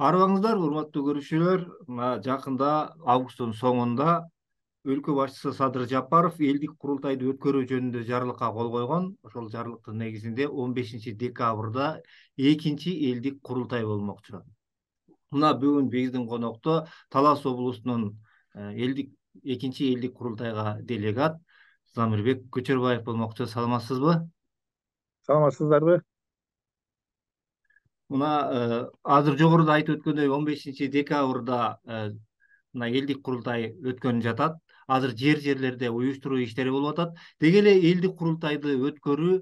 Арыбаңыздар, урматтуу көрүүчүлөр. Мына жакында августтун соңунда өлкө башчысы Садыр Жапаров элдик курултайды өткөрүү жөнүндө жарлыкка кол койгон. Ошол жарлыктын негизинде 15 декабрда экинчи элдик курултай болмокчу. Мына бүгүн биздин конокто Талас облусунун экинчи элдик курултайга делегат Замирбек Көчөрбаев болмокчу. Саламатсызбы? Саламатсыздарбы? Мына азыр жогоруда айтып өткөндөй 15 декабрда мына элдик курултай өткөнүп жатат. Азыр жерлерде уюштуруу иштери болуп атат. Деги эле элдик курултайды өткөрүү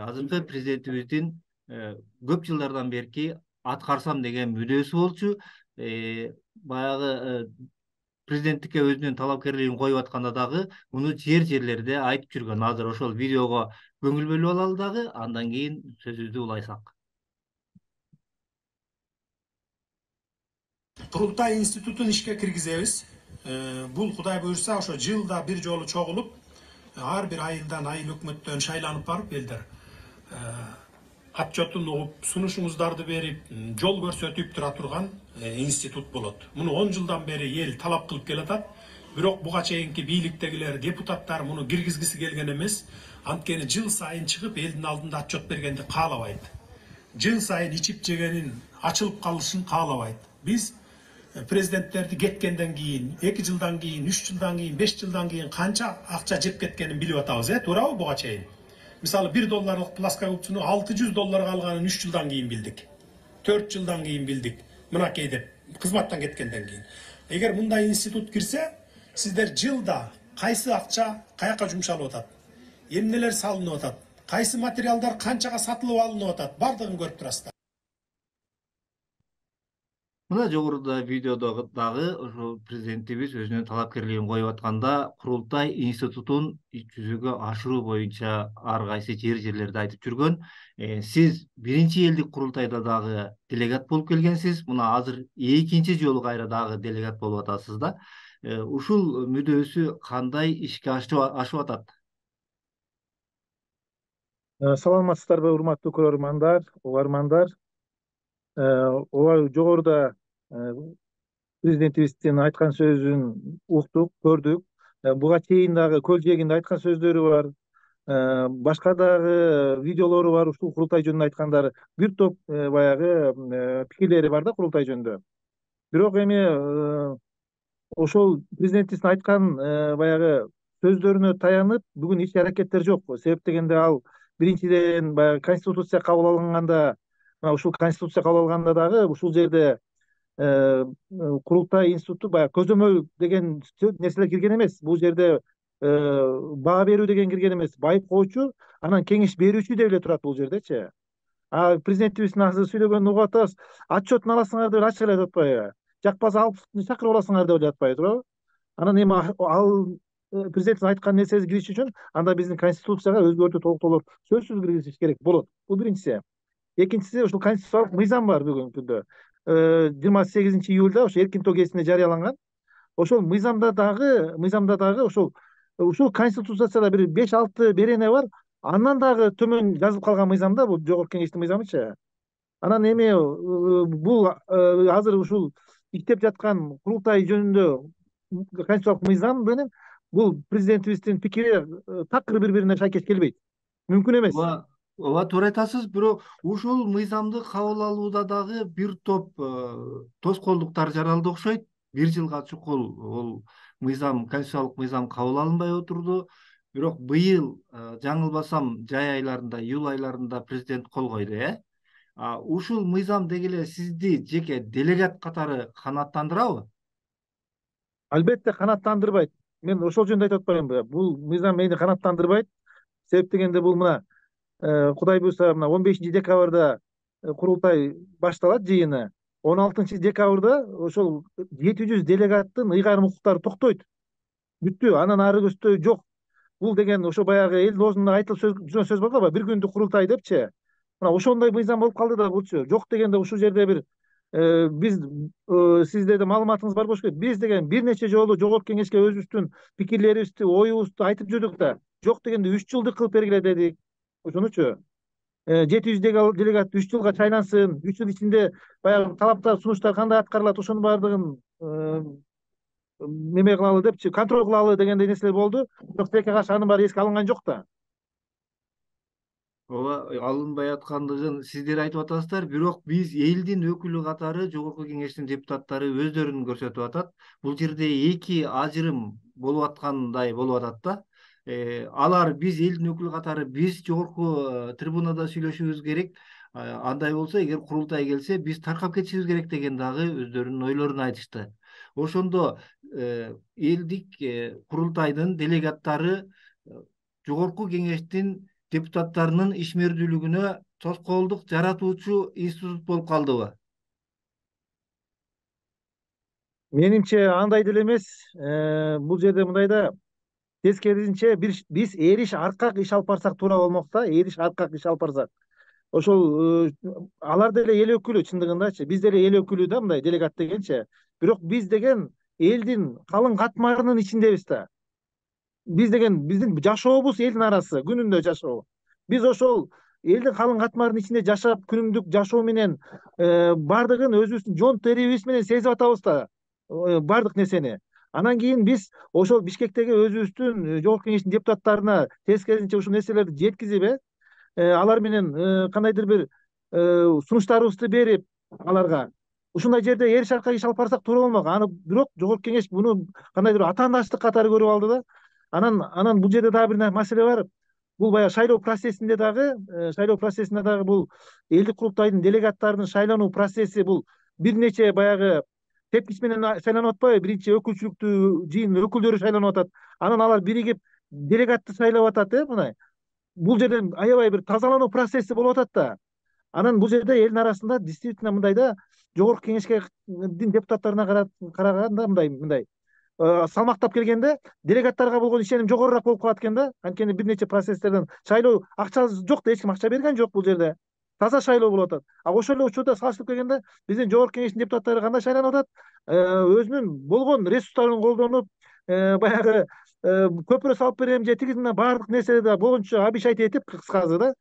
азыркы президентибиздин көп жылдардан берки аткарсам деген мүдөөсү болчу. Баягы президенттикке өзүнүн талапкерлигин коюп атканда дагы муну жерлерде айтып жүргөн. Азыр ошол видеого көңүл бөлүп алалы дагы, андан кийин сөзүбүздү улайсак. Курултай институтун ишке киргизебиз. Бул Кудай буйрса ошо жылда бир жолу чогулуп, ар бир айылдан айыл өкмөттөн шайланып барып элдер отчетун угуп, сунушуңуздарды берип, жол көрсөтүп тура турган институт болот. Муну 10 жылдан бери эл талап кылып келатат. Бирок буга чейинки бийликтегилер, депутаттар муну киргизгиси келген эмес. Анткени жыл сайын чыгып элдин алдында отчет бергенди каалабайт. Жыл сайын ичип жегенин ачылып калышын каалабайт. Биз президенттерди кеткенден кийин, 2 жылдан кийин, 3 жылдан кийин, 5 жылдан кийин канча акча жеп кеткенин билип атабыз, туурабы буга чейин? Мисалы $1 плоскогубцуну $600 алганын 3 жылдан кийин билдик. 4 жылдан кийин билдик. Мынакей деп кызматтан кеткенден кийин. Эгер мындай институт кирсе, сиздер жылда кайсы акча каяка жумшалып атат? Эмнелер салынып атат? Кайсы материалдар канчага сатылып алынып атат? Бардыгын көрүп турасыздар. Мына жогоруда видеодо дагы ошо президентибиз өзүнүн талапкерлигин коюп атканда курултай институтун жүзөгө ашыруу боюнча ар кайсы жерлерде айтып жүргөн. Сиз биринчи элдик курултайда дагы делегат болуп келгенсиз. Мына азыр экинчи жолу кайра дагы делегат болуп атасыз да. Ушул мүдөөсү кандай ишке ашып атат? Саламатсыздарбы, урматтуу көрөрмандар, угармандар. Ооба, жогоруда президентибиздин айткан сөзүн уктук, көрдүк. Буга чейин дагы көл жээгинде айткан сөздөрү бар. Башка дагы видеолору бар, ушул курултай жөнүндө айткандары. Бир топ баягы пикирлери бар да курултай жөнүндө. Бирок эми ошол президентибиздин айткан баягы сөздөрүнө таянып бүгүн ич аракеттер жок. Себеп дегенде ал биринчиден баягы конституция кабыл алынганда, ушул конституция кабыл алганда дагы ушул жерде курултай институту баягы көзөмөл деген нерселер кирген эмес. Бул жерде баа берүү деген кирген эмес. Байып коочу, анан кеңеш берүүчү деп эле турат бул жердечи. Президентибиздин азыр сүйлөгөнүн угуп атабыз. Отчетун аласыңар деп ачык эле айтып атпайбы? Жакпаса алып чакырып аласыңар деп эле атпайбы, туурабы? Анан эми ал президенттин айткан нерсеси кириш үчүн анда биздин конституцияга өзгөртүү толуктоолор сөзсүз киргизиш керек болот. Бул биринчиси. Экинчиси, ушул конституциялык мыйзам бар бүгүнкү күндө. 28 июлда ошо эркин тоо кезинде жарыяланган. Ошол мыйзамда дагы ушул конституцияда бир 5-6 берене бар. Андан дагы төмөн жазылып калган мыйзам да, бул жогорку кеңештин мыйзамычы. Анан эми бул азыр ушул иштеп жаткан курултай жөнүндө конституциялык мыйзам менен бул президентибиздин пикири такыр бири-бирине шайкеш келбейт. Мүмкүн эмес. Ооба, туура айтасыз. Бирок ушул мыйзамды кабыл алууда дагы бир топ тоскоолдуктар жаралды окшойт. 1 жылга чукул бул мыйзам, конституциялык мыйзам кабыл алынбай отурду. Бирок быйыл жаңылбасам жай айларында, июль айларында президент кол койду, Ушул мыйзам деги эле сизди жеке делегат катары канааттандырабы? Албетте канааттандырбайт. Мен ошол жөнүндө айтып атпаймынбы? Бул мыйзам мени канааттандырбайт. Себеп дегенде бул мына Кудай буйрса мына 15 декабрда курултай башталат жыйыны. 16 декабрда ошол 700 делегаттын ыйгарым укуктары токтойт. Бүттү, анан ары көздөй жок. Бул деген ошо баягы эл оозунда айтылып жүргөн сөз бар го, бир күндүк курултай депчи. Мына ошондой мыйзам болуп калды да булчу. Жок дегенде ушул жерде бир биз сизде да маалыматыңыз бар болуш керек. Биз деген бир нече жолу жогорку кеңешке өзүбүздүн пикирлерибизди, оюбузду айтып жүрдүк да. Жок дегенде 3 жылдык кылып бергиле дедик. Ошонучу. 700 делегат 3 жылга шайлансын, 3 жыл ичинде баягы талаптар, сунуштар кандай аткарылат, ошонун баардыгын неме кылалы депчи, контроль кылалы дегендей нерселер болду. Бирок тилекке каршы анын баары эске алынган жок да. ооба, алынбай аткандыгын сиздер айтып атасыздар, бирок биз элдин өкүлү катары Жогорку Кеңештин депутаттары өздөрүн көрсөтүп атат. Бул жерде эки ажырым болуп аткандай болуп атат да. Алар биз элдин өкүлү катары биз жогорку трибунада сүйлөшүбүз керек. Андай болсо, эгер курултай келсе, биз таркап кетишибиз керек деген дагы өздөрүнүн ойлорун айтышты. Ошондо элдик курултайдын делегаттары Жогорку Кеңештин депутаттарынын ишмердүүлүгүнө тоскоолдук жаратуучу институт болуп калдыбы? Менимче андай деле эмес. Бул жерде мындай да, тескерисинче биз эриш аркак иш алып барсак туура болмок да, эриш аркак иш алып барсак. Ошол алар деле эл өкүлү чындыгындачы. Биз деле эл өкүлү да, мындай делегат дегенчи. Бирок биз деген элдин калың катмарынын ичиндебиз да. Биз деген биздин жашообуз элдин арасы, күнүндө жашоо. Биз ошол элдин калың катмарынын ичинде жашап, күнүмдүк жашоо менен баардыгын өзүбүздүн жон терибиз менен сезип атабыз да, баардык нерсени. Анан кийин биз ошол Бишкектеги өзүбүздүн Жогорку Кеңештин депутаттарына тескерисинче ушул нерселерди жеткизип, алар менен кандайдыр бир сунуштарыбызды берип аларга ушундай жерде эриш аркак иш алып барсак туура болмок. Аны бирок Жогорку Кеңеш муну кандайдыр атаандаштык катары көрүп алды да. Анан бул жерде дагы бир маселе бар. Бул баягы шайлоо процессинде дагы бул элдик курултайдын делегаттарынын шайлануу процесси бул бир нече баягы тепкич менен шайланып атпайбы? Биринчи өкүлчүлүктүү жыйын өкүлдөрү шайланып атат. Анан алар биригип делегатты шайлап атат, мындай. Бул жерде аябай бир тазалануу процесси болуп атат да. Анан бул жерде элдин арасында действительно мындай да, Жогорку Кеңешке депутаттарына караганда мындай салмактап келгенде делегаттарга болгон ишеним жогорураак болуп калат экен да. Анткени бир нече процесстерден шайлоо акчасы жок да, эч ким акча берген жок бул жерде. Таза шайлоо болуп атат. Ошол эле учурда салыштырып келгенде биздин Жогорку Кеңештин депутаттары кандай шайланып атат? Өзүнүн болгон ресурстарын колдонуп, баягы көпүрө салып берем же тиги баардык нерселерди болгончо обещать этип, кыскасы да,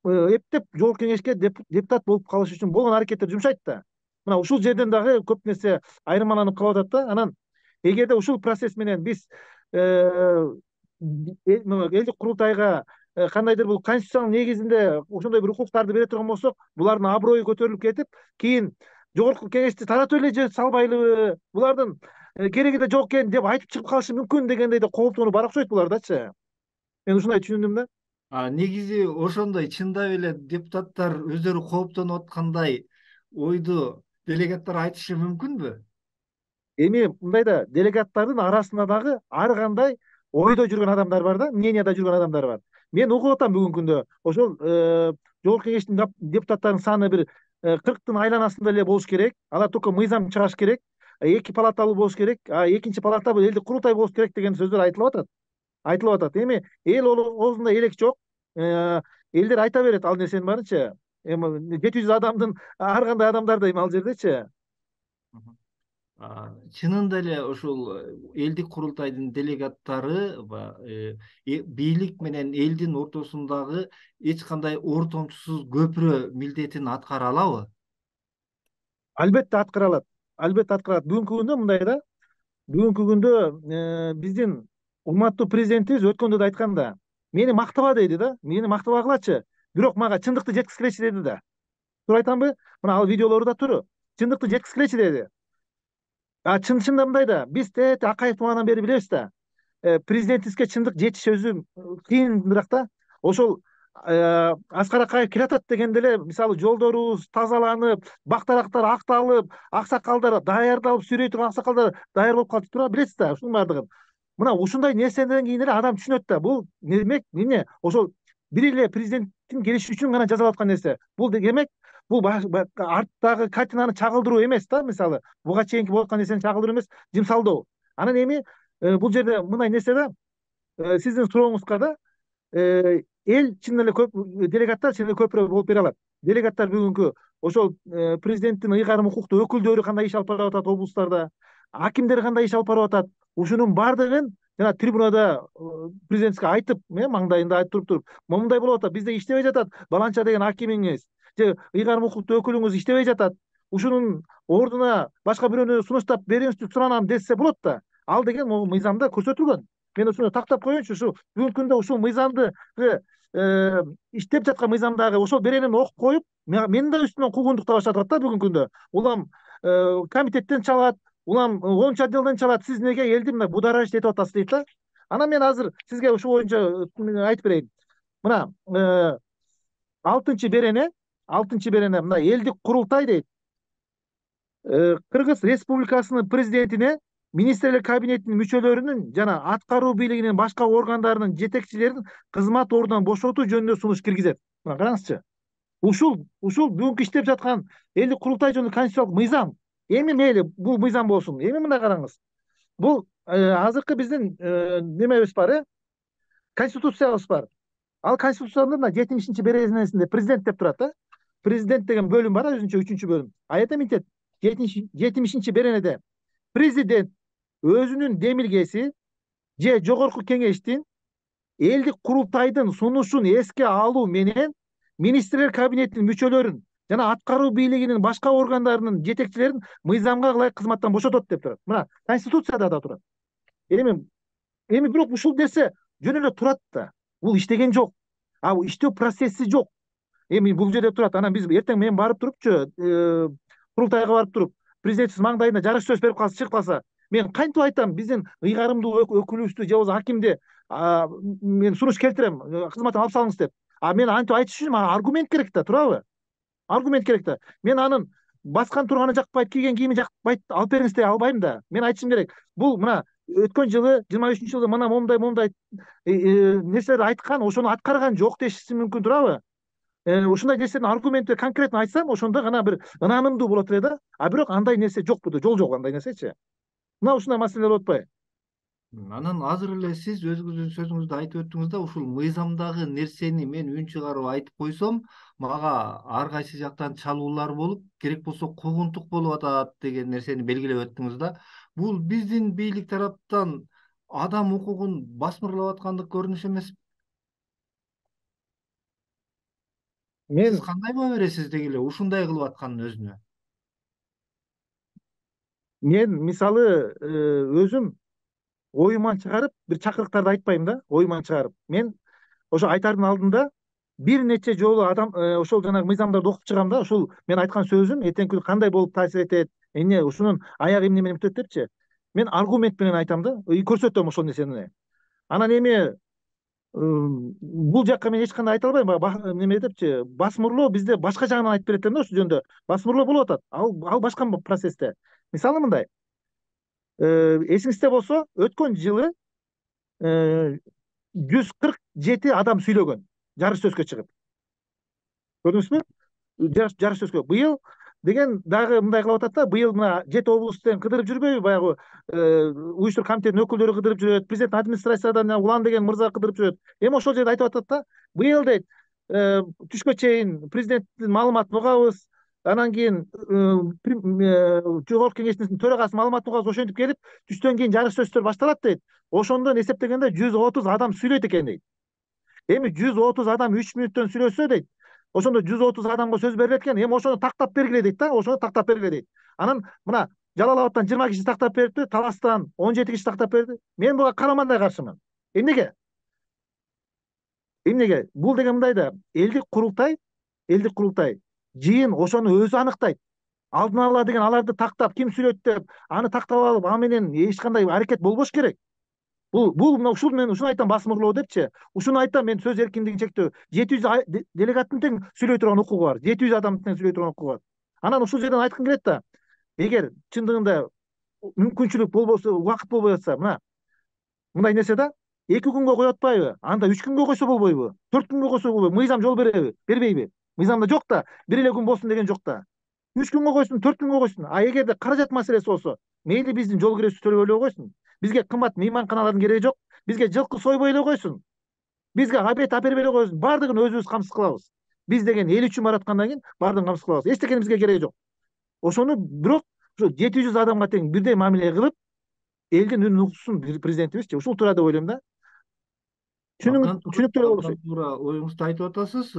эптеп Жогорку Кеңешке депутат болуп калыш үчүн болгон аракеттерди жумшайт да. Мына ушул жерден дагы көп нерсе айырмаланып калып атат да. Анан эгерде ушул процесс менен биз элдик курултайга кандайдыр бул конституциянын негизинде ошондой бир укуктарды бере турган болсок, булардын аброю көтөрүлүп кетип, кийин Жогорку Кеңешти таратып эле же салбайлыбы, булардын кереги да жок экен деп айтып чыгып калышы мүмкүн дегендей да кооптонуу бар окшойт булардачы. Мен ушундай түшүндүм да. Негизи ошондой чындап эле депутаттар өздөрү кооптонуп аткандай ойду делегаттар айтышы мүмкүнбү? Эми мындай да, делегаттардын арасында дагы ар кандай ойдо жүргөн адамдар бар да, мненияда жүргөн адамдар бар. Мен угуп атам бүгүнкү күндө ошол Жогорку Кеңештин депутаттарынын саны бир 40-тын айланасында эле болуш керек. Алар только мыйзам чыгаш керек. 2 палаталуу болуш керек. Экинчи палата бул элдик курултай болуш керек деген сөздөр айтылып атат. Эми эл оозунда элек жок. Элдер айта берет ал нерсенин баарынчы. Эми 700 адамдын ар кандай адамдар да эми ал жердечи. Чынында эле ушул элдик курултайдын делегаттары бийлик менен элдин ортосундагы эч кандай ортомчусуз көпүрө милдетин аткара алабы? Албетте аткара алат. Бүгүнкү күндө мындай да. Бүгүнкү күндө биздин урматтуу президентибиз өткөндө да айткан да, мени мактаба дейди да. Мени мактабагылачы, бирок мага чындыкты жеткизгилечи деди да. Туура айтамбы? Мына ал видеолору да тур. Чындыкты жеткизгилечи деди. Чынында мындай да, биз Акаев тумагандан бери билебиз да. Президентибизге чындык жетиш өзү кыйыныраак да. Ошол Аскар Акаев келатат дегенде эле, мисалы, жолдорубуз тазаланып, бактарактар акталып, аксакалдар даярдалып, сүрөй турган аксакалдар даяр болуп калды, туура билесиз да, ушунун баардыгын. Мына ушундай нерседен кийин эле адам түшүнөт да, бул демек эмне? Ошол бир эле президенттин келиши үчүн гана жасалып аткан нерсе. Бул демек бул арттагы картинаны чагылдыруу эмес да, мисалы, буга чейинки болуп аткан нерсени чагылдыруу эмес, жымсалдоо. Анан эми бул жерде мындай нерсе да, сиздин сурооңузга да, эл чын эле делегаттар чын эле көпүрө болуп бере алат. Делегаттар бүгүнкү ошол президенттин ыйгарым укуктуу өкүлдөрү кандай иш алып барып атат облустарда, акимдер кандай иш алып барып атат, ушунун баардыгын жана трибунада президентке айтып, маңдайында айтып туруп момундай болуп атат, бизде иштебей жатат баланча деген акимиңиз же ыйгарым укуктуу өкүлүңүз иштебей жатат, ушунун ордуна башка бирөөнү сунуштап бериңизчи суранам десе болот да. Ал деген могу мыйзамда көрсөтүлгөн. Мен ушуну тактап коеюнчу, ушу бүгүнкү күндө ушул мыйзамды иштеп жаткан мыйзамдагы ошол беренени окуп коюп, менин да үстүмөн куугунтуктап баштап атат да бүгүнкү күндө. Улам комитеттен чалат, улам 10 отделден чалат, сиз эмнеге элди мына будара иштетип атасыз дейт да. Анан мен азыр сизге ушул боюнча айтып берейин. Мына 6 берене мына элдик курултай дейт. Кыргыз Республикасынын президентине министрлер кабинетинин мүчөлөрүнүн жана аткаруу бийлигинин башка органдарынын жетекчилерин кызмат ордунан бошотуу жөнүндө сунуш киргизет. Мына караңызчы. Ушул бүгүнкү иштеп жаткан элдик курултай жөнүндө конституциялык мыйзам. Эми мейли бул мыйзам болсун. Эми мына караңыз. Бул азыркы биздин немебиз бар, конституциябыз бар. Ал конституциянын мына 70-беренесинде президент деп турат да. Президент деген бөлүм бар, өзүнчө 3-чү бөлүм. Аята мынтет 70-беренеде президент өзүнүн демилгеси же жогорку кеңештин элдик курултайдын сунушун эске алуу менен министрлер кабинетинин мүчөлөрүн жана аткаруу бийлигинин башка органдарынын жетекчилерин мыйзамга ылайык кызматтан бошотот деп турат. Мына конституцияда да турат. Эми бирок ушул нерсе жөн эле турат да. Бул иштеген жок. Бул иштөө процесси жок. Эми бул жерде турат. Анан биз эртең мен барып турупчу, курултайга барып туруп, президентибиз маңдайына жарыш сөз берип калса, чыгып калса, мен кантип айтам биздин ыйгарымдуу өкүлүбүздү же болбосо акимди мен сунуш келтирем, кызматтан алып салыңыз деп. Мен антип айтыш үчүн мага аргумент керек да, туурабы? Аргумент керек да. Мен анын баскан турганы жакпайт, кийген кийими жакпайт, алып бериңиз дей албайм да. Мен айтышым керек. Бул мына өткөн жылы 23-жылы мына момундай нерселерди айткан, ошону аткарган жок дешиши мүмкүн, туурабы? Ушундай нерсени аргументти конкретно айтсам, ошондо гана бир ынанымдуу болот эле да. Бирок андай нерсе жок буда, жол жок андай нерсечи. Мына ушундай маселелер болуп атпайбы? Анан азыр эле сиз өзүңүздүн сөзүңүздө айтып өттүңүз да, ушул мыйзамдагы нерсени мен үн чыгарып айтып койсом, мага ар кайсы жактан чалуулар болуп, керек болсо куугунтук болуп атат деген нерсени белгилеп өттүңүз да. Бул биздин бийлик тараптан адам укугун басмырлап аткандык көрүнүш эмеспи? Сиз Мен кандай баа бересиз деги эле ушундай кылып атканын өзүнө? мисалы өзүм оюман чыгарып бир чакырыктарды айтпайм да, оюман чыгарып. Мен ошо айтардын алдында бир нече жолу адам ошол жанагы мыйзамдарды окуп чыгам да, ушул мен айткан сөзүм эртеңки күнү кандай болуп таасир этет, эмне ушунун аягы эмне менен бүтөт депчи. Мен аргумент менен айтам да, көрсөтөм ошол нерсени. Анан эми бул жакка мен эч кандай айта албайм, неме депчи, басмырлоо бизде башка жагынан айтып берет да ушул жөнүндө. Басмырлоо болуп атат. Ал башка процессте. Мисалы мындай. Эсиңизде болсо, өткөн жылы 147 адам сүйлөгөн, жарыш сөзгө чыгып. Көрдүңүзбү? Жарыш сөзгө. Быйыл деген дагы мындай кылып атат да, быйыл мына 7 облустан кыдырып жүрбөйбү, баягы уюштурук комитетинин өкүлдөрү кыдырып жүрөт, президент администрациядан Улан деген мырза кыдырып жүрөт. Эми ошол жерде айтып атат да, быйыл дейт, түшкө чейин президенттин маалыматын угабыз, анан кийин жогорку кеңештин төрагасы маалыматын угабыз, ошентип келип, түштөн кийин жарыш сөздөр башталат дейт. Ошондон эсептегенде 130 адам сүйлөйт экен дейт. Эми 130 адам 3 мүнөттөн сүйлөсө дейт, ошондо 130 адамга сөз берилет экен. Эми ошону тактап бергиле дейт да, ошону тактап бергиле дейт. Анан мына Жалал Абадтан 20 киши тактап берипти, Таластан 17 киши тактап берди. Мен буга карамандай каршымын. Эмнеге? Бул деген мындай да, элдик курултай жыйын ошону өзү аныктайт. Алдын ала деген аларды тактап, ким сүйлөйт деп, аны тактап алып, аны менен эч кандай аракет болбош керек. Бул мына ушул мен ушуну айтам, басмырлоо депчи. Ушуну айтам, мен сөз эркиндигин чектөө. 700 делегаттын тең сүйлөй турган укугу бар. 700 адамдын тең сүйлөй турган укугу бар. Анан ушул жерден айткым келет да, эгер чындыгында мүмкүнчүлүк болбосо, убакыт болбой атса, мындай нерсе да, 2 күнгө коюп атпайбы? Анда 3 күнгө койсо болбойбу? 4 күнгө койсо болбойбу? Мыйзам жол бербейби? Мыйзамда жок да, бир эле күн болсун деген жок да. 3 күнгө койсун, 4 күнгө койсун. Эгерде каражат маселеси болсо, мейли биздин жол киресибизди төлөп эле койсун. Бизге кымбат мейманканалардын кереги жок. Бизге жылкы сойбой эле койсун. Бизге обед апербей эле койсун. Баардыгын өзүбүз камсыз кылабыз. Биз деген эл үчүн бараткандан кийин баардыгын камсыз кылабыз. Эчтекенин бизге кереги жок. Ошону бирок ушу 700 адамга тең бирдей мамиле кылып, элдин үнүн уксун президентибизчи, ушул туура деп ойлойм да. Түшүнүктүү болушу. Абдан туура оюңузду айтып атасыз.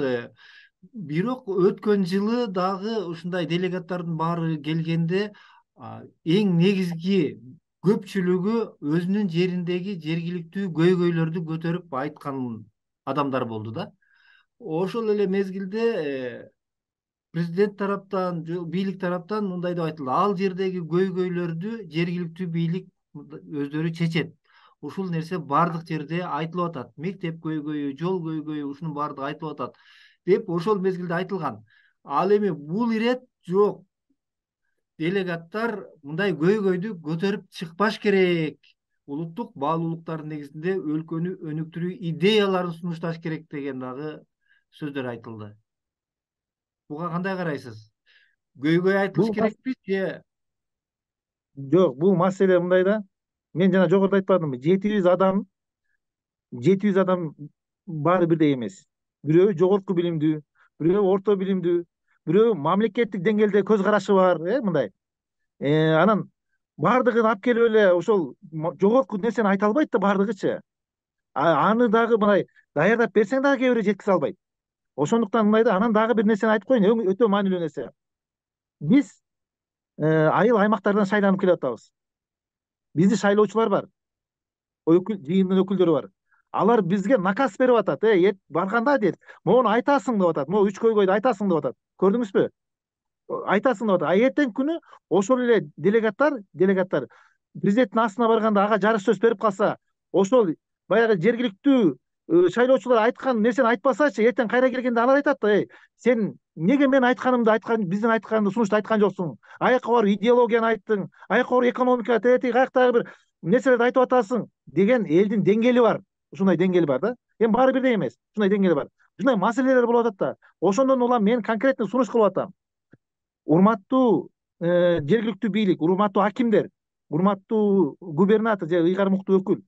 Бирок өткөн жылы дагы ушундай делегаттардын баары келгенде эң негизги көпчүлүгү өзүнүн жериндеги жергиликтүү көйгөйлөрдү көтөрүп айткан адамдар болду да. Ошол эле мезгилде президент тараптан, бийлик тараптан мындай деп айтылды: ал жердеги көйгөйлөрдү жергиликтүү бийлик өздөрү чечет. Ушул нерсе баардык жерде айтылып атат. Мектеп көйгөйү, жол көйгөйү, ушунун баардыгы айтылып атат деп ошол мезгилде айтылган. Ал эми бул ирет жок. Делегаттар мындай көйгөйдү көтөрүп чыкпаш керек. Улуттук баалуулуктардын негизинде өлкөнү өнүктүрүү идеяларын сунушташ керек деген дагы сөздөр айтылды. Буга кандай карайсыз? Көйгөй айтылыш Бул керекпи же? жок, бул маселе мындай да. Мен жана жогоруда айтпадымбы? 700 адам баары бирдей эмес. Бирөө жогорку билимдүү, бирөө орто билимдүү, бирөө мамлекеттик деңгээлде көз карашы бар, мындай. Анан баардыгын алып келип эле ошол жогорку нерсени айта албайт да баардыгычы. Аны дагы мындай даярдап берсең дагы кээ бирөө жеткизе албайт. Ошондуктан мындай да, анан дагы бир нерсени айтып коеюн, өтө маанилүү нерсе. Биз айыл аймактардан шайланып келип атабыз. Бизди шайлоочулар бар. Жыйындын өкүлдөрү бар. Алар бизге наказ берип атат. Барганда дейт, могуну айтасың деп атат. Могу 3 көйгөйдү айтасың деп атат. Көрдүңүзбү? Айтасың деп атат. Эртең күнү ошол эле делегаттар президенттин астына барганда ага жарыш сөз берип калса, ошол баягы жергиликтүү шайлоочулар айткан нерсени айтпасачы, эртең кайра келгенде алар айтат да: сен эмнеге мен биздин айтканды сунушту айткан жоксуң? Аяка барып идеологияны айттың, аяка барып экономика, каяктагы бир нерселерди айтып атасың деген элдин деңгээли бар. Ушундай деңгээли бар да. Эми баары бирдей эмес. Ушундай деңгээли бар. Ушундай маселелер болуп атат да. Ошондон улам мен конкретный сунуш кылып атам. Урматтуу жергиликтүү бийлик, урматтуу акимдер, урматтуу губернатор же ыйгар муктуу өкүл,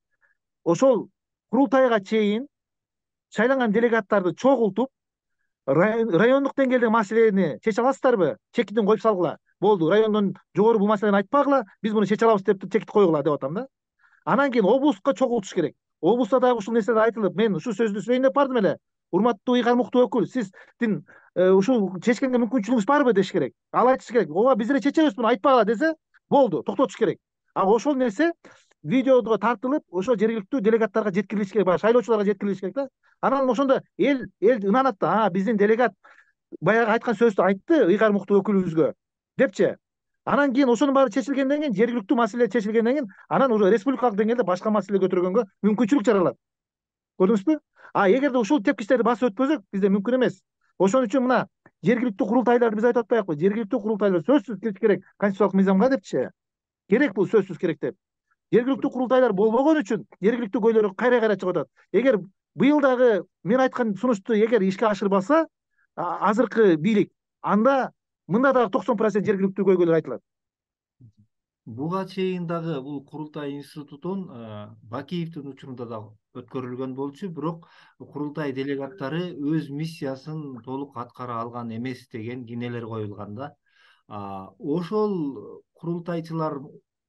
ошол курултайга чейин шайланган делегаттарды чогултуп, райондук деңгээлдеги маселени чече аласыздарбы? Чекитин коюп салгыла. Болду, райондон жогору бул маселени айтпагыла, биз муну чече алабыз деп чекит койгула деп атам да. Анан кийин облустка чогултуш керек. Облустта дагы ушул нерселер айтылып, мен ушул сөздү сөйлөйүн деп бардым эле. Урматтуу ыйгар муктуу өкүл, сиздин ушул чечкенге мүмкүнчүлүгүңүз барбы деш керек. Ал айтыш керек. Ооба, биз эле чечебиз муну, айтпагыла десе, болду, токтотуш керек. Ошол нерсе видеого тартылып, ошол жергиликтүү делегаттарга жеткирилиш керек, баягы шайлоочуларга жеткирилиш керек да. Анан ошондо эл ынанат да, биздин делегат баягы айткан сөздү айтты ыйгар муктуу өкүлүбүзгө депчи. Анан кийин ошонун баары чечилгенден кийин, жергиликтүү маселе чечилгенден кийин, анан уже республикалык деңгээлде башка маселе көтөргөнгө мүмкүнчүлүк жаралат. Көрдүңүзбү? Эгерде ушул тепкичтерди басып өтпөсөк, бизде мүмкүн эмес. Ошон үчүн мына жергиликтүү курултайларды биз айтып атпайбызбы? Жергиликтүү курултайлар сөзсүз кириш керек конституциялык мыйзамга депчи. Керек, бул сөзсүз керек деп. Жергиликтүү курултайлар болбогон үчүн жергиликтүү көйлөр кайра чыгып атат. Эгер быйыл дагы мен айткан сунушту эгер ишке ашырбаса, азыркы бийлик, анда мында дагы 90% жергиликтүү көйгөйлөр айтылат. Буга чейин дагы бул курултай институтун Бакиевдин учурунда дагы өткөрүлгөн болчу, бирок курултай делегаттары өз миссиясын толук аткара алган эмес деген кинелер коюлган да. Ошол курултайчылар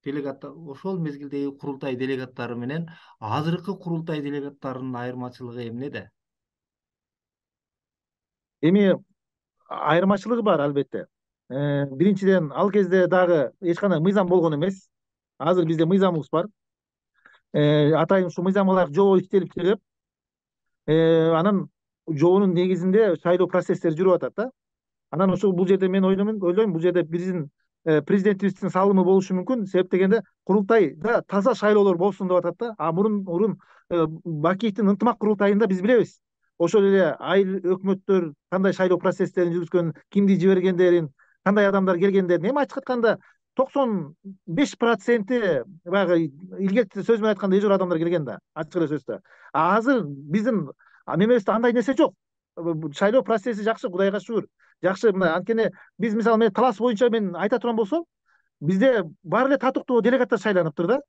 ошол мезгилдеги курултай делегаттары менен азыркы курултай делегаттарынын айырмачылыгы эмнеде? Эми айырмачылыгы бар албетте. Биринчиден, ал кезде дагы эч кандай мыйзам болгон эмес. Азыр бизде мыйзамыбыз бар. Атайын ушу мыйзамга ылайык жобо иштелип чыгып, анан жобонун негизинде шайлоо процесстери жүрүп атат да. Анан ошол бул жерде мен ойлойм, бул жерде биздин президентибиздин салымы болушу мүмкүн. Себеп дегенде, курултайда таза шайлоолор болсун деп атат да. Мурун Бакиевдин ынтымак курултайында биз билебиз. Ошол эле айыл өкмөттөр кандай шайлоо процесстерин жүргүзгөнүн, кимди жибергендерин, кандай адамдар келгендерин, эми ачык айтканда 95% баягы илгерки сөз менен айтканда эжор адамдар келген да, ачык эле сөздөр. Азыр биздин мемебизде андай нерсе жок. Шайлоо процесси жакшы, Кудайга шүгүр. Жакшы, мына анткени биз мисалы мен талас боюнча мен айта турган болсом, бизде баары эле татыктуу делегаттар шайланыптыр да.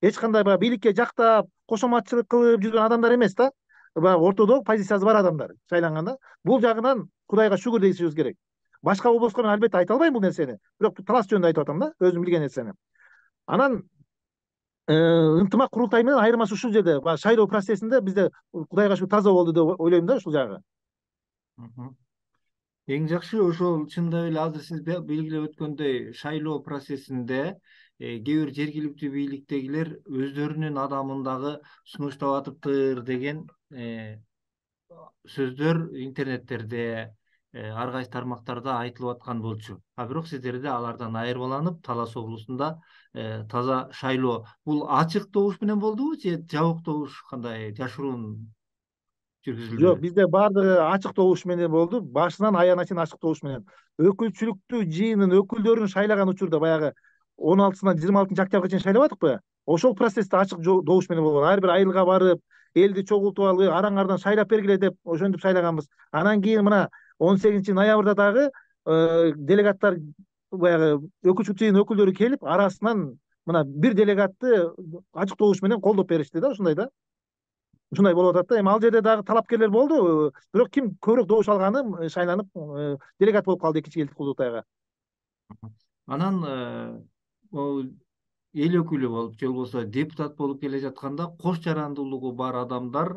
Эч кандай баягы бийликке жактап, кошоматчылык кылып жүргөн адамдар эмес да. Баягы ортодо позициясы бар адамдар шайланганда. Бул жагынан Кудайга шүгүр дешибиз керек. Башка облуска мен албетте айта албайм бул нерсени, бирок талас жөнүндө айтып атам да, өзүм билген нерсени. Анан ынтымак курултай менен айырмасы ушул жерде. Баягы шайлоо процессинде бизде Кудайга шүгүр таза болду деп ойлойм да ушул жагы. Эң жакшы ошол чындап эле азыр сиз белгилеп өткөндөй шайлоо процессинде кээ бир жергиликтүү бийликтегилер өздөрүнүн адамын дагы сунуштап атыптыр деген сөздөр интернеттерде ар кайсы тармактарда айтылып аткан болчу. Бирок сиздерде алардан айырмаланып Талас облусунда таза шайлоо бул ачык добуш менен болдубу же жабык добуш кандай жашыруун Жок, жүргүзүлдүбү? бизде баардыгы ачык добуш менен болду. Башынан аягына чейин ачык добуш менен. Өкүлчүлүктүү жыйынын өкүлдөрүн шайлаган учурда баягы 16-сынан 26 октябрга чейин шайлабадыкпы? Ошол процессте ачык добуш менен болгон. Ар бир айылга барып, элди чогултуп алып, араңардан шайлап бергиле деп ошентип шайлаганбыз. Анан кийин мына 18-ноябрда дагы делегаттар баягы өкүлчүлүк жыйынын өкүлдөрү келип, арасынан мына бир делегатты ачык добуш менен колдоп беришти да, ушундай да. Ушундай болуп атат да. Эми ал жерде дагы талапкерлер болду. Бирок ким көбүрөөк добуш алганы шайланып делегат болуп калды Экинчи Элдик курултайга. Анан могу эл өкүлү болуп же болбосо депутат болуп келе жатканда кош жарандуулугу бар адамдар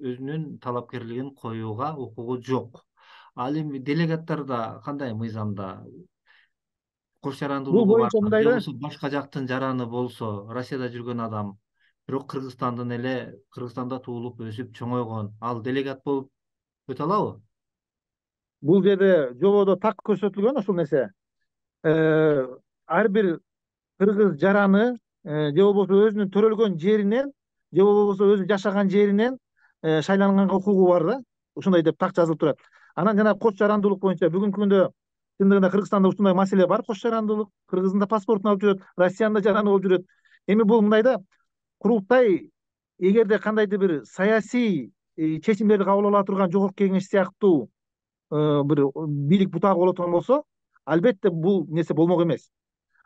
өзүнүн талапкерлигин коюуга укугу жок. Ал эми делегаттарда кандай мыйзамда кош Бул жарандуулугу бар боюнча мындай же да. болбосо башка жактын жараны болсо, Россияда жүргөн адам, бирок Кыргызстанда туулуп өсүп чоңойгон, ал делегат болуп өтө алабы? Бул жерде жободо так көрсөтүлгөн ушул нерсе. Ар бир кыргыз жараны же болбосо өзүнүн төрөлгөн жеринен же болбосо өзү жашаган жеринен шайланганга укугу бар да. Ушундай деп так жазылып турат. Анан жана кош жарандуулук боюнча бүгүнкү күндө чындыгында Кыргызстанда ушундай маселе бар. Кош жарандуулук Кыргыздын да паспортун алып жүрөт, Россиянын да жараны болуп жүрөт. Эми бул мындай да, курултай эгерде кандайдыр бир саясий чечимдерди кабыл ала турган жогорку кеңеш сыяктуу бир бийлик бутагы боло турган болсо, албетте бул нерсе болмок эмес.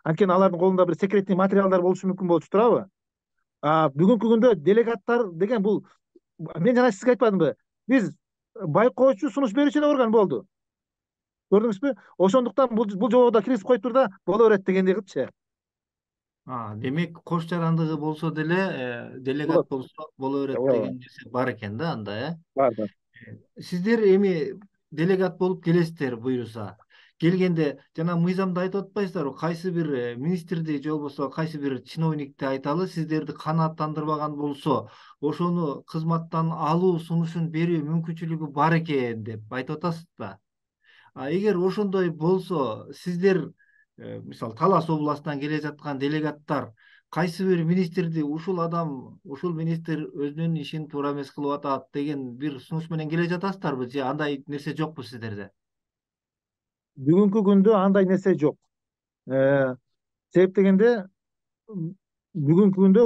Анткени алардын колунда бир секретный материалдар болушу мүмкүн болчу турабы? Бүгүнкү күндө делегаттар деген бул, мен жана сизге айтпадымбы? Биз байкоочу, сунуш берүүчү эле орган болду. Көрдүңүзбү? Ошондуктан бул жободо киргизип коюп тур да, боло берет дегендей кылчы. Демек кош жарандыгы болсо деле делегат Болот. болсо боло берет Ооба, деген нерсе бар экен да анда. бар бар. Сиздер эми делегат болуп келесиздер буюрса. Келгенде жана мыйзамда айтып атпайсыздарбы, кайсы бир министрди же болбосо кайсы бир чиновникти айталы, сиздерди канааттандырбаган болсо, ошону кызматтан алуу сунушун берүү мүмкүнчүлүгү бар экен деп айтып атасыз да. Эгер ошондой болсо, сиздер мисалы Талас областынан келе жаткан делегаттар кайсы бир министрди ушул адам, ушул министр өзүнүн ишин туура эмес кылып атат деген бир сунуш менен келе жатасыздарбы же андай нерсе жокпу сиздерде? Бүгүнкү күндө андай нерсе жок. Себеп дегенде бүгүнкү күндө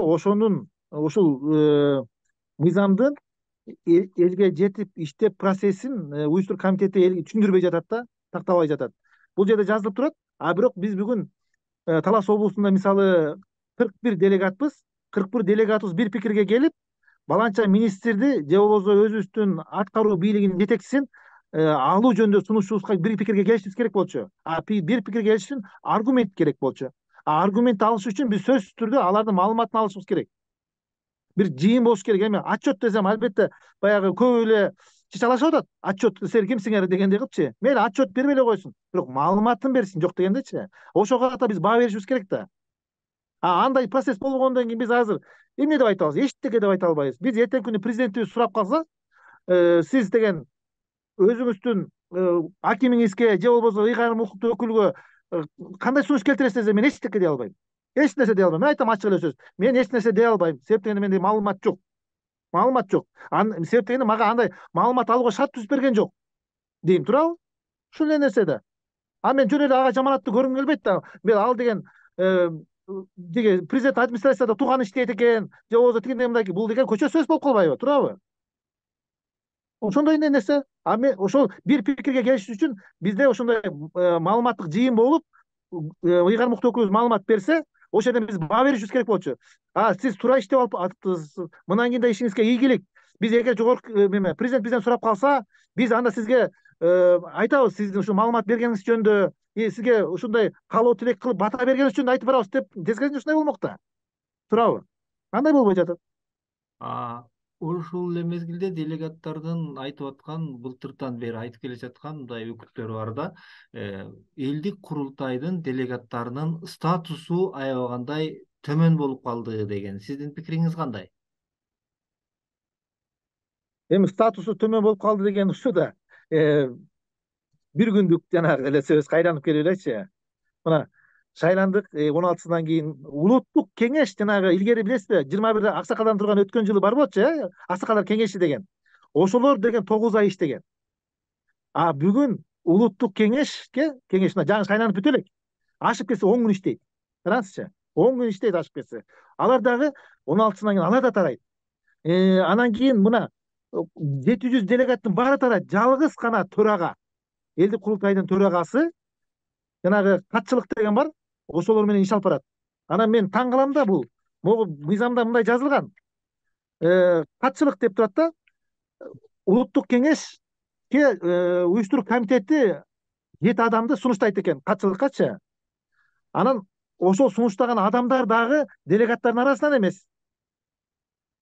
ушул мыйзамдын элге жетип иштеп процессин уюштурук комитети элге түшүндүрбөй жатат да, тактабай жатат. Бул жерде жазылып турат. Бирок биз бүгүн Талас облусунда мисалы 41 делегатпыз. 41 делегатыбыз бир пикирге келип, баланча министрди же болбосо өзүбүздүн аткаруу бийлигинин жетекчисин алуу жөнүндө сунушубузга бир пикирге келишибиз керек болчу. Бир пикирге келиш үчүн аргумент керек болчу. Аргумент алыш үчүн биз сөзсүз түрдө алардын маалыматын алышыбыз керек. Бир жыйын болуш керек. Эми отчет десем, албетте баягы көп эле чычалашып атат. Отчет силер кимсиңер дегендей кылчы. Мейли отчет бербей эле койсун, бирок маалыматын берсин, жок дегендечи. Ошого карата биз баа беришибиз керек да. Андай процесс болгондон кийин биз азыр эмне деп айта алабыз? Эчтеке деп айта албайбыз. Биз эртеңки күнү президентибиз сурап калса, сиз деген өзүңүздүн акимиңизге же болбосо ыйгарым укуктуу өкүлгө кандай сунуш келтиресиз десе, мен эчтеке дей албайм. Эч нерсе дей албайм. Мен айтам ачык эле сөз. Мен эч нерсе дей албайм. Себеп дегенде менде маалымат жок. Маалымат жок. Себеп дегенде мага андай маалымат алууга шарт түзүп берген жок. Дейм турабы? Ушул эле нерсе да. Мен жөн эле ага жаманатты көргүм келбейт да. Мен ал деген деге президент администрацияда тууган иштейт экен, же болбосо тигиндей мындай, бул деген көчө сөз болуп калбайбы, турабы? Ошондой нерсе. Мен ошол бир пикирге келиш үчүн бизде ошондой маалыматтык жыйын болуп, ыйгарым укуктуу өкүлүбүз маалымат берсе, ошол жерден биз баа беришибиз керек болчу. Сиз туура иштеп атыптырсыз. Мындан кийин да ишиңизге ийгилик. Биз эгер жогорку президент бизден сурап калса, биз анда сизге айтабыз, сиздин ушу маалымат бергениңиз жөнүндө, сизге ушундай каалоо тилек кылып бата бергениңиз жөнүндө айтып барабыз деп, тескерисинче ушундай болмок да. туурабы? Кандай болбой жатат? Ушул эле мезгилде делегаттардын айтып аткан, былтыртан бери айтып келе жаткан мындай өкүттөр бар да. Элдик курултайдын делегаттарынын статусу аябагандай төмөн болуп калды деген. Сиздин пикириңиз кандай? Эми статусу төмөн болуп калды деген ушу да бир күндүк жанагы эле сөз кайтанып келип элечи. Мына шайландык 16-сынан кийин улуттук кеңеш жанагы илгери билесизби 21 аксакалдан турган өткөн жылы бар болчу, аксакалдар кеңеши деген. Ошолор деген 9 ай иштеген. Бүгүн улуттук кеңешке мына жаңы шайланып бүтө элек. Ашып кетсе 10 күн иштейт. Караңызчы. 10 күн иштейт ашып кетсе. Алар дагы 16-сынан кийин алар да тарайт. Анан кийин мына 700 делегаттын баары тарайт. Жалгыз гана төрага, элдик курултайдын төрагасы жанагы катчылык деген бар, ошолор менен иш алып барат. Анан мен таң калам да, бул могу мыйзамда мындай жазылган. Катчылык деп турат да, улуттук кеңешке уюштуруу комитети 7 адамды сунуштайт экен катчылыккачы. Анан ошол сунуштаган адамдар дагы делегаттардын арасынан эмес.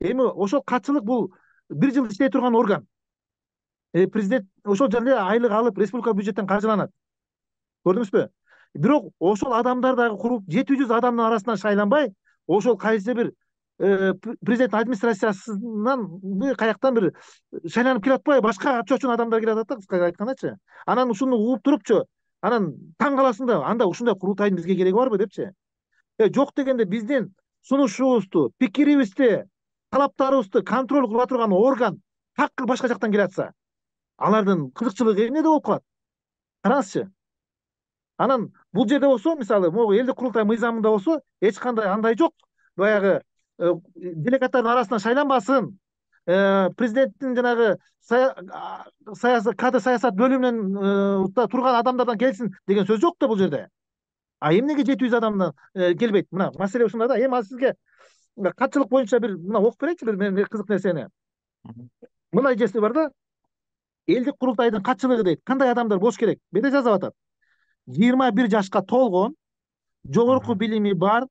Эми ошол катчылык бул 1 жыл иштей турган орган. Президент ошол жерде айлык алып республика бюджеттен каржыланат. Көрдүңүзбү? Бирок ошол адамдар дагы куруп 700 адамдын арасынан шайланбай, ошол кайсы бир президент администрациясынан каяктан бир шайланып келип атпайбы, башка чочун адамдар келип атат да, кыскасы айткандачы. Анан ушуну угуп турупчу, анан таң каласың да, анда ушундай курултайдын бизге кереги барбы депчи. Жок дегенде биздин сунушубузду, пикирибизди, талаптарыбызды контроль кыла турган орган такыр башка жактан келе атса, алардын кызыкчылыгы эмнеде болуп калат? Караңызчы. Анан бул жерде болсо, мисалы, могу элдик курултай мыйзамында болсо, эч кандай андай жок. Баягы делегаттардын арасынан шайланбасын, президенттин жанагы кадр саясат бөлүмүнөн турган адамдардан келсин деген сөз жок да бул жерде. Эмнеге 700 адамдан келбейт? Мына маселе ушунда да. Эми сизге катчылык боюнча бир мына окуп берейинчи бир кызык нерсени. Мындай жеси бар да. Элдик курултайдын катчылыгы дейт. Кандай адамдар болуш керек? Бете жазып атат. 21 жашка толгон, жогорку билими бар,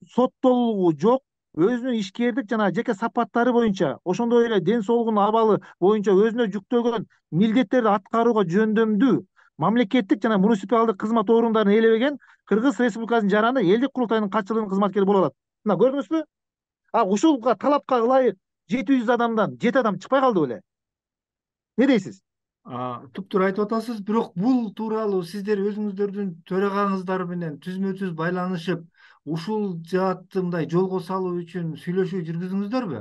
соттолугу жок, өзүнүн ишкердик жана жеке сапаттары боюнча, ошондой эле ден соолугунун абалы боюнча өзүнө жүктөлгөн милдеттерди аткарууга жөндөмдүү мамлекеттик жана муниципалдык кызмат орундарын ээлебеген Кыргыз Республикасынын жараны элдик курултайдын катчылыгынын кызматкери боло алат. Мына көрдүңүзбү? Ушул талапка ылайык 700 адамдан 7 адам чыкпай калды беле? Не дейсиз? Туптуура айтып атасыз, бирок бул тууралуу сиздер өзүңүздөрдүн төрагаңыздар менен түзмө-түз байланышып, ушул жаатты мындай жолго салуу үчүн сүйлөшүү жүргүздүңүздөрбү?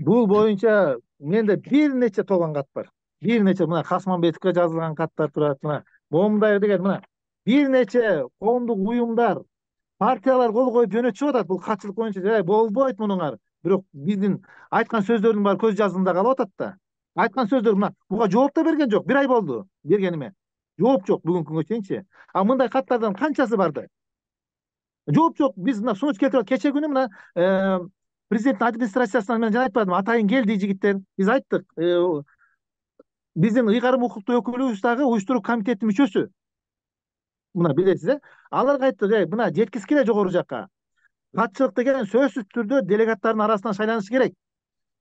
Бул боюнча менде бир нече толгон кат бар. Бир нече мына Касманбетовго жазылган каттар турат, мына момундай деген мына бир нече коомдук уюмдар, партиялар кол коюп жөнөтүшүп атат бул катчылык боюнча. Болбойт мунуңар. Бирок биздин айткан сөздөрдүн баары көз жаздымда калып атат да. Айткан сөздөр мына буга жооп да берген жок. 1 ай болду бергениме. Жооп жок бүгүнкү күнгө чейинчи. Мындай каттардан канчасы барды? Жооп жок. Биз мына сунуш келтирип кече күнү мына президенттин администрациясынан мен жана айтпадым, атайын келди жигиттер. Биз айттык. Биздин ыйгарым укуктуу өкүлүбүз дагы уюштуруу комитетинин мүчөсү. Мына билесиз, аларга айттык, мына жеткизгиле жогору жакка. Катчылык деген сөзсүз түрдө делегаттардын арасынан шайланышы керек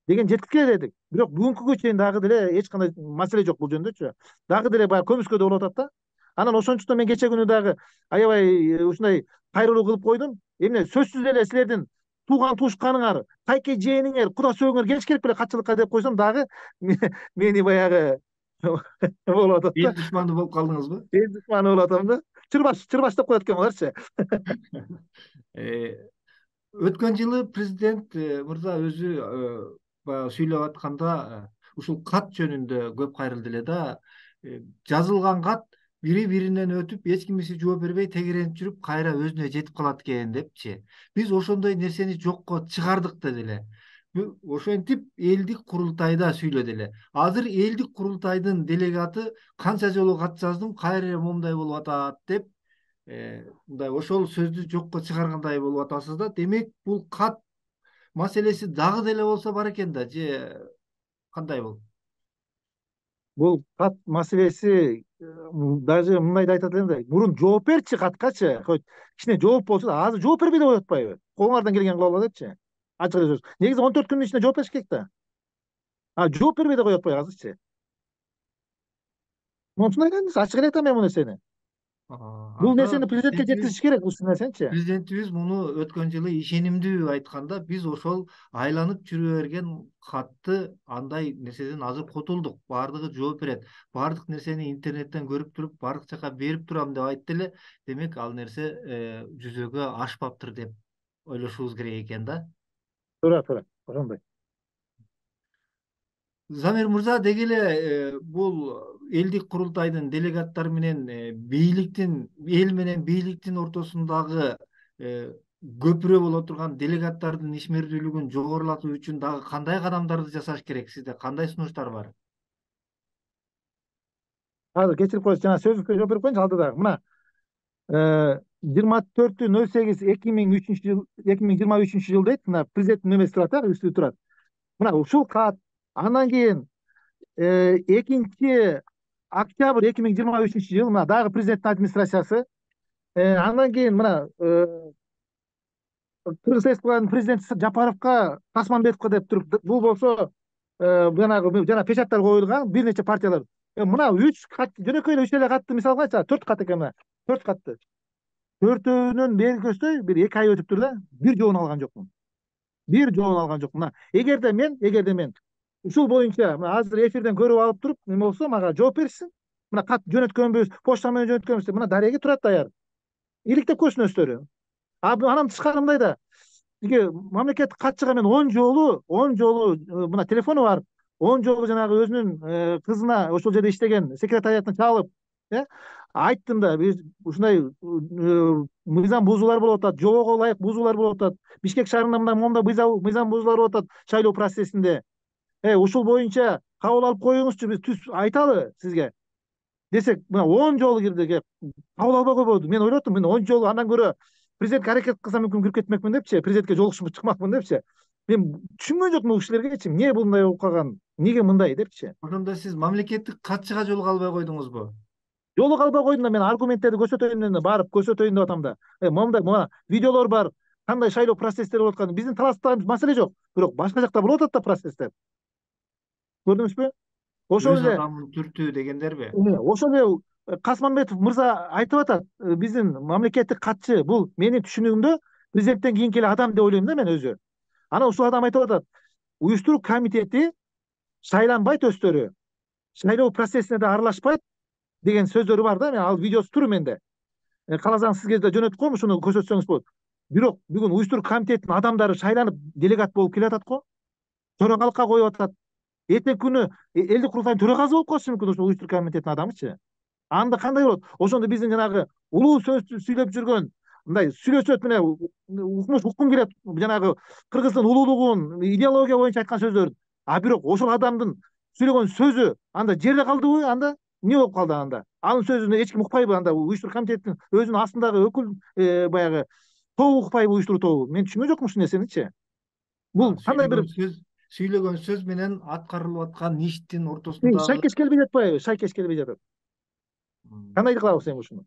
деген жеткизгиле дедик. Бирок бүгүнкү күнгө чейин дагы деле эч кандай маселе жок бул жөндөчү. Дагы деле баягы көмүскөдө болуп атат да. Анан ошончуктан мен кече күнү дагы аябай ушундай кайрылуу кылып койдум. Эмне сөзсүз эле силердин тууган туушканыңар, кайке жээниңер, куда сөөгүңөр келиш керек беле катчылыкка деп койсом дагы мени баягы болуп атат да. Эл душманы болуп калдыңызбы? Эл душманы болуп атам да. Чырбаш деп коет экен буларчы. Өткөн жылы президент мырза өзү баягы сүйлөп атканда ушул кат жөнүндө көп кайрылды эле да. Жазылган кат бири-биринен өтүп, эч кимиси жооп бербей тегеренип жүрүп, кайра өзүнө жетип калат экен депчи. Биз ошондой нерсени жокко чыгардык деди эле. Ошентип элдик курултайда сүйлөдү эле. Азыр элдик курултайдын делегаты канча жолу кат жаздым, кайра момундай болуп атат деп мындай ошол сөздү жокко чыгаргандай болуп атасыз да. Демек бул кат маселеси дагы деле болсо бар экен да, же кандай болду? бул кат маселеси даже мындай да айтат элем да, мурун жооп берчи каткачы, хоть кичине жооп болчу да, азыр жооп бербей да коюп атпайбы? Колуңардан келген кыла алгыла депчи. Ачык эле сөз. Негизи 14 күндүн ичинде жооп бериш керек да. Жооп бербей да коюп атпайбы азырчы? Монусун айтамыз, ачык эле айтам мен бул нерсени. Бул Анда нерсени президентке жеткизиш керек, ушул нерсеничи. президентибиз муну өткөн жылы ишенимдүү айтканда, биз ошол айланып жүрө берген катты андай нерседен азыр кутулдук. Баардыгы жооп берет. Баардык нерсени интернеттен көрүп туруп, баардык жака берип турам деп айтты эле. Демек, ал нерсе жүзөгө ашпаптыр деп ойлошубуз керек экен да. Туура, ошондой. Замир мырза, деги эле бул элдик курултайдын делегаттары менен эл менен бийликтин ортосундагы көпүрө боло турган делегаттардын ишмердүүлүгүн жогорулатуу үчүн дагы кандай кадамдарды жасаш керек? Сизде кандай сунуштар бар? Азыр кечирип коесуз, жана сөзүңүзгө жооп берип коеюнчу алдыдагы. Мына 24/08/2003 2023 жыл дейт. Мына президенттин нөмеси турат да, үстү турат. Мына ушул кат, андан кийин 2-октябрь 2023 жыл, мына дагы президенттин администрациясы. Андан кийин мына Кыргыз Республикасынын президенти Жапаровго, Тасманбетовго деп туруп, бул болсо жанагы жана печаттар коюлган бир нече партиялар. Мына 3 кат, жөнөкөй эле 3 эле катты мисалга айтса, 4 кат экен мына. 4 катты. Төртөөнүн бери көздөй бир 2 ай өтүптүр да, бир жообун алган жокмун. Мына эгерде мен ушул боюнча мына азыр эфирден көрүп алып туруп, неме болсо мага жооп беришсин. Мына кат жөнөткөнбүз, почта менен жөнөткөнбүз деп, мына дареги турат даяр. Иликтеп койсун өздөрү. Анан тышкары мындай да, тиги мамлекеттик катчыга мен 10 жолу мына телефону бар, 10 жолу жанагы өзүнүн кызына ошол жерде иштеген секретариятына чалып, айттым да, биз ушундай мыйзам бузуулар болуп атат, жобого ылайык бузуулар болуп атат, Бишкек шаарында моундай мыйзам бузуулар болуп атат шайлоо процессинде. Ушул боюнча кабыл алып коюңузчу, биз түз айталы сизге десек, мына 10 жолу кирди, кабыл албай койбоду. Мен ойлоп аттым, мен 10 жолу андан көрө президентке аракет кылсам мүмкүн кирип кетмекмин депчи, президентке жолугушуп чыкмакмын депчи. Мен түшүнгөн жокмун бул кишилергечи, эмне мындай болуп калган, эмнеге мындай депчи. Ошондо сиз мамлекеттик катчыга жолуга албай койдуңузбу? Жолуга албай койдум да, мен аргументтерди көрсөтөйүн, барып көрсөтөйүн деп атам да. Момундай мына видеолор бар, кандай шайлоо процесстери болуп аткан. Биздин таласта маселе жок, бирок башка жакта болуп атат да процесстер. Көрдүңүзбү? Ошол Өз эле адамын түртүү дегендерби? ошол эле Касманбетов мырза айтып атат, биздин мамлекеттик катчы, бул менин түшүнүгүмдө президенттен кийинки эле адам деп ойлойм да мен өзү. Анан ушул адам айтып атат, уюштуруу комитети шайланбайт өздөрү, шайлоо процессине да аралашпайт деген сөздөрү бар да. Мен ал видеосу тур менде. Кааласаңыз сизге да жөнөтүп коем, ушуну көрсөтсөңүз болот. Бирок бүгүн уюштуруу комитетинин адамдары шайланып делегат болуп келатат го, төрагалыкка коюп атат. Эртең күнү элдик курултайдын төрагасы болуп калышы мүмкүн ушул уюштуруу комитетинин адамычы. Анда кандай болот? Ошондо биздин жанагы улуу сөздү сүйлөп жүргөн, мындай сүйлөсөт мына уккум келет, жанагы кыргыздын улуулугун идеология боюнча айткан сөздөрүн. Бирок ошол адамдын сүйлөгөн сөзү анда жерде калдыбы? Анда эмне болуп калды анда? Анын сөзүнө эч ким укпайбы? Анда уюштуруу комитетинин өзүнүн астындагы өкүл баягы тобу укпайбы, уюштуруу тобу? Мен түшүнгөн жокмун ушул нерсеничи. Бул кандай бир Сүйлөгөн сөз менен аткарылып аткан иштин ортосундагы шайкеш келбей жатпайбы? Шайкеш келбей жатат. Кандай кылабыз эми ушуну?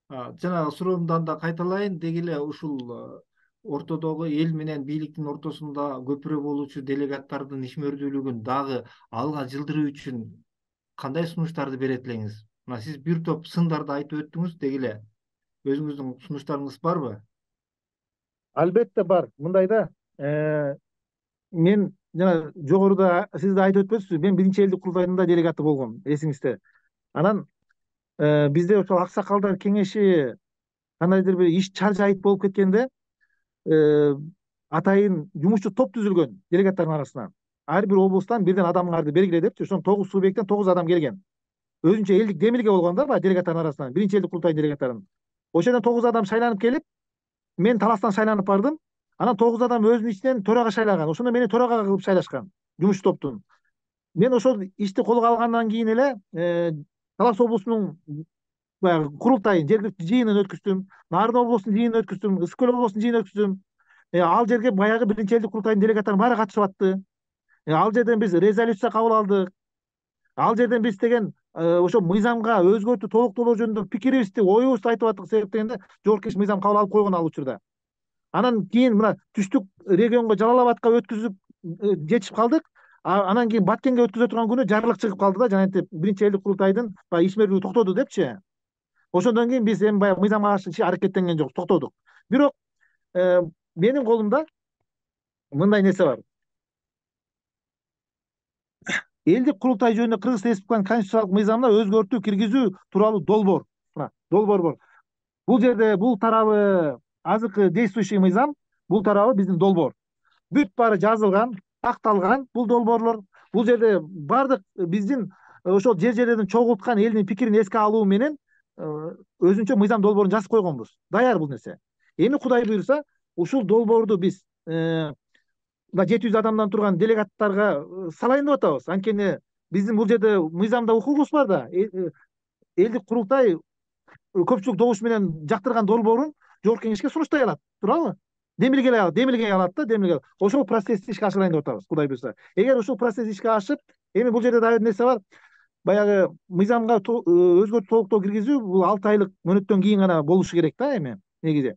Жанагы суроомду да кайталайын. Деги эле ушул ортодогу эл менен бийликтин ортосунда көпүрө болуучу делегаттардын ишмердүүлүгүн дагы алга жылдыруу үчүн кандай сунуштарды берет элеңиз? Мына сиз бир топ сындарды айтып өттүңүз, деги эле өзүңүздүн сунуштарыңыз барбы? Албетте бар. Мындай да, мен жана жогоруда сиз да айтып өтпөйсүзбү, мен биринчи элдик курултайдын да делегаты болгом, эсиңизде. Анан бизде ошол аксакалдар кеңеши кандайдыр бир иш чаржайып болуп кеткенде, атайын жумушчу топ түзүлгөн делегаттардын арасынан. Ар бир облустан бирден адамдарды бергиле депчи. Ошон 9 субъекттен 9 адам келген. Өзүнчө элдик демилге болгон да, делегаттардын арасынан, биринчи элдик курултайдын делегаттарын. Ошол жерден 9 адам шайланып келип, мен таластан шайланып бардым. Анан 9 адам өзүнүн ичинен төрага шайлаган. Ошондо мени төрага кылып шайлашкан, жумушчу топтун. Мен ошол ишти колго алгандан кийин эле Талас облусунун баягы курултайын, жергиликтүү жыйынын өткүздүм. Нарын облусунун жыйынын өткүздүм, Ысык көл облусунун жыйынын өткүздүм. Ал жерге баягы биринчи элдик курултайдын делегаттары баары катышып атты. Ал жерден биз резолюция кабыл алдык. Ал жерден биз деген ошо мыйзамга өзгөртүү толуктоолоо жөнүндө пикирибизди, оюбузду айтып аттык себеп дегенде жогорку кеңеш мыйзам кабыл алып койгон ал учурда. Анан кийин мына түштүк регионго Жалал абадка өткүзүп жетишип калдык. Анан кийин Баткенге өткөзө турган күнү жарлык чыгып калды да, жанагынтип биринчи элдик курултайдын баягы ишмердүүлүгү токтоду депчи. Ошондон кийин биз эми баягы мыйзамга каршы аракеттенген жокпуз, токтодук. Бирок менин колумда мындай нерсе бар. Элдик курултай жөнүндө Кыргыз Республикасынын конституциялык мыйзамына өзгөртүү киргизүү тууралуу долбоор. Мына долбоор бар. Бул жерде бул тарабы азыркы действующий мыйзам, бул тарабы биздин долбоор. Бүт баары жазылган, акталган бул долбоорлор. Бул жерде баардык биздин ошол жерлерден чогулткан элдин пикирин эске алуу менен өзүнчө мыйзам долбоорун жазып койгонбуз. Даяр бул нерсе. Эми Кудай буйрса, ушул долбоорду биз 700 адамдан турган делегаттарга салайын деп атабыз. Анткени биздин бул жерде мыйзамда укугубуз бар да. Элдик курултай көпчүлүк добуш менен жактырган долбоорун жогорку кеңешке сунуштай алат, туурабы? Демилгей алат да, демилгей. Ошол процессти ишке ашырайын деп атабыз, Кудай буйрса. Эгер ушул процесс ишке ашып, эми бул жерде дагы бир нерсе бар. Баягы мыйзамга өзгөртүү толуктоо киргизүү бул 6 айлык мөөнөттөн кийин гана болушу керек да эми негизи.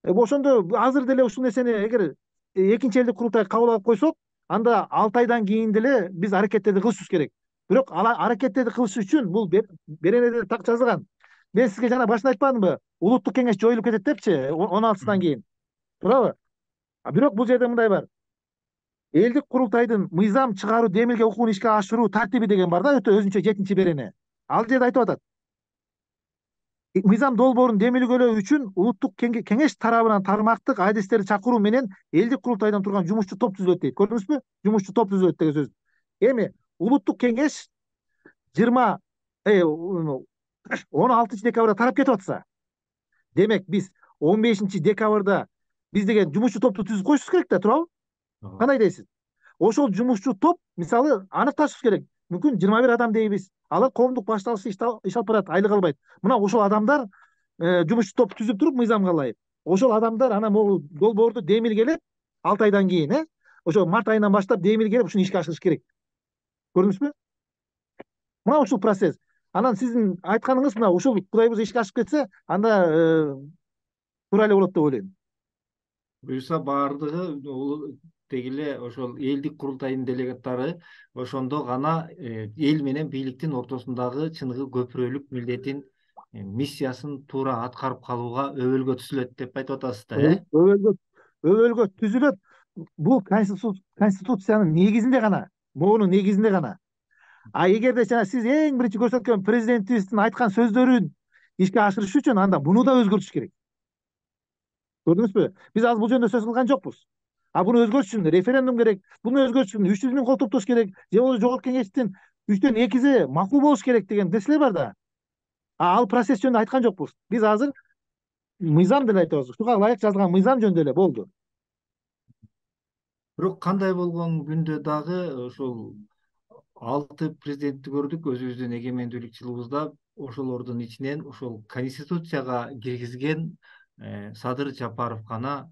Ошондо азыр деле ушул нерсени эгер экинчи элдик курултай кабыл алып койсок, анда 6 айдан кийин деле биз аракеттерди кылышыбыз керек. Бирок аракеттерди кылыш үчүн бул беренеде так жазылган. Мен сизге жана башында айтпадымбы? Улуттук кеңеш жоюлуп кетет депчи, 16-сынан кийин. Туурабы? Бирок бул жерде мындай бар. Элдик курултайдын мыйзам чыгаруу демилге укугун ишке ашыруу тартиби деген бар да, өтө өзүнчө 7-чи берене. Ал жерде айтып атат. Мыйзам долбоорун демилгелөө үчүн улуттук кеңеш тарабынан тармактык адистерди чакыруу менен элдик курултайдан турган жумушчу топ түзүлөт дейт. Көрдүңүзбү? Жумушчу топ түзүлөт деген сөз. Эми улуттук кеңеш 16 декабрда тарап кетип атса, демек биз 15 декабрда биз деген жумушчу топту түзүп коюшубуз керек да, туурабы? Кандай дейсиз? Ошол жумушчу топ мисалы аныкташыбыз керек. Мүмкүн 21 адам дейбиз. Алар коомдук башталышы иш алып барат, айлык албайт. Мына ошол адамдар жумушчу топ түзүп туруп мыйзамга ылайык. Ошол адамдар анан могу долбоорду демилгелеп 6 айдан кийин, ошо март айынан баштап демилгелеп ушуну ишке ашырыш керек. Көрдүңүзбү? Мына ушул процесс. Анан сиздин айтканыңыз мына ушул Кудай буйрса ишке ашып кетсе, анда туура эле болот деп ойлойм. Буюрса баардыгы деги эле ошол элдик курултайдын делегаттары ошондо гана эл менен бийликтин ортосундагы чыныгы көпүрөлүк милдетин, миссиясын туура аткарып калууга өбөлгө түзүлөт деп айтып атасыз да, Өбөлгө түзүлөт. Бул конституциянын негизинде гана, моунун негизинде гана. Эгерде жана сиз эң биринчи көрсөткөн президентибиздин айткан сөздөрүн ишке ашырыш үчүн анда муну да өзгөртүш керек. Көрдүңүзбү? Биз азыр бул жөнүндө сөз кылган жокпуз. Буну өзгөртүш үчүн референдум керек. Буну өзгөртүш үчүн 300 миң кол топтош керек. Же болбосо жогорку кеңештин 3төн 2си макул болуш керек деген нерселер бар да. Ал процесс жөнүндө айткан жокпуз. Биз азыр мыйзам деле айтабыз. Ушуга ылайык жазылган мыйзам жөнүндө эле болду. Бирок кандай болгон күндө дагы ошол 6 президентти көрдүк өзүбүздүн эгемендүүлүк жылыбызда. Ошолордун ичинен ошол конституцияга киргизген Садыр Жапаров гана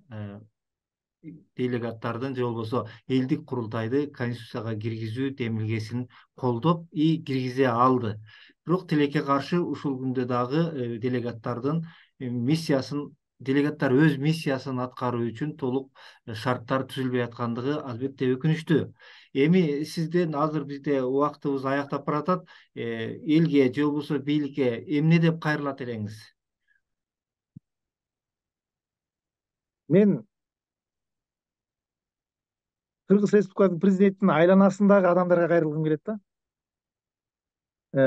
делегаттардын же болбосо элдик курултайды конституцияга киргизүү демилгесин колдоп киргизе алды. Бирок тилекке каршы ушул күндө дагы делегаттардын миссиясын, делегаттар өз миссиясын аткаруу үчүн толук шарттар түзүлбөй аткандыгы албетте өкүнүчтүү. Эми сизден азыр бизде убактыбыз аяктап баратат. Элге же болбосо бийликке эмне деп кайрылат элеңиз? Мен Кыргыз Республикасынын президентинин айланасындагы адамдарга кайрылгым келет да.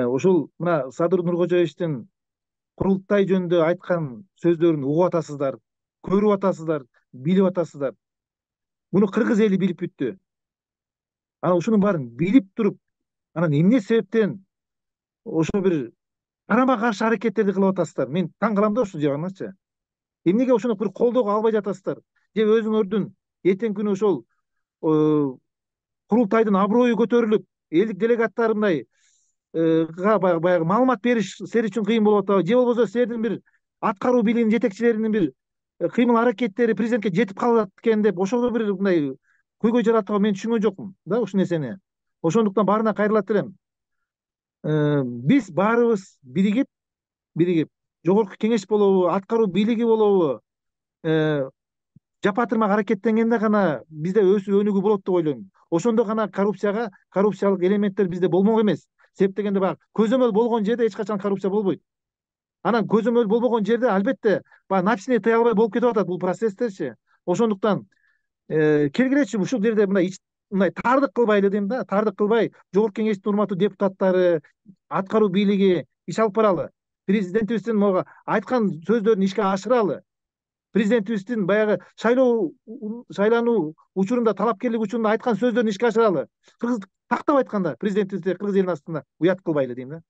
Ушул мына Садыр Нуркожоевичтин курултай жөнүндө айткан сөздөрүн угуп атасыздар, көрүп атасыздар, билип атасыздар. Муну кыргыз эли билип бүттү. Анан ушунун баарын билип туруп, анан эмне себептен ошо бир карама каршы аракеттерди кылып атасыздар? Мен таң калам да ушул жагыңачы. Эмнеге ошону бир колдоого албай жатасыздар? Же өзүңөрдүн эртеңки күнү ошол курултайдын аброю көтөрүлүп, элдик делегаттар мындай баягы маалымат бериш силер үчүн кыйын болуп атабы? Же болбосо силердин бир аткаруу бийлигинин жетекчилеринин бир кыймыл аракеттери президентке жетип калат экен деп ошого бир мындай көйгөй жаратууга мен түшүнгөн жокмун да ушул нерсени. Ошондуктан баарына кайрылат элем. Биз баарыбыз биригип жогорку кеңеш болобу, аткаруу бийлиги болобу, жапатырмак аракеттенгенде гана бизде өсүү өнүгүү болот деп ойлойм. Ошондо гана коррупциялык элементтер бизде болмок эмес. Себеп дегенде баягы көзөмөл болгон жерде эч качан коррупция болбойт. Анан көзөмөл болбогон жерде албетте баягы напичине тыя албай болуп кетип атат бул процесстерчи. Ошондуктан келгилечи ушул жерде мындай таардык кылбай эле дейм да, таардык кылбай жогорку кеңештин урматтуу депутаттары, аткаруу бийлиги иш алып баралы. Президентибиздин могу айткан сөздөрүн ишке ашыралы. Президентибиздин баягы шайлануу учурунда, талапкерлик учурунда айткан сөздөрүн ишке ашыралы. Тактап айтканда президентибизди кыргыз элинин астында уят кылбай эле дейм да.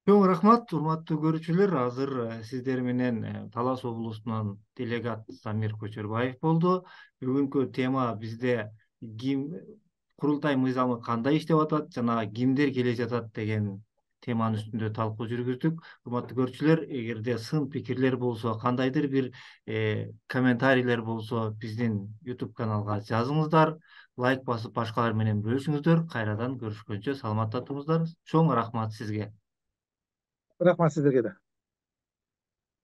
Чоң рахмат, урматтуу көрүүчүлөр. Азыр сиздер менен Талас облусунан делегат Замир Көчөрбаев болду. Бүгүнкү тема бизде курултай мыйзамы кандай иштеп атат жана кимдер келе жатат деген теманын үстүндө талкуу жүргүздүк. Урматтуу көрүүчүлөр, эгерде сын пикирлер болсо, кандайдыр бир комментарийлер болсо, биздин YouTube каналга жазыңыздар, лайк басып башкалар менен бөлүшүңүздөр. Кайрадан көрүшкөнчө саламатта туруңуздар. Чоң рахмат сизге. Рахмат сиздерге да.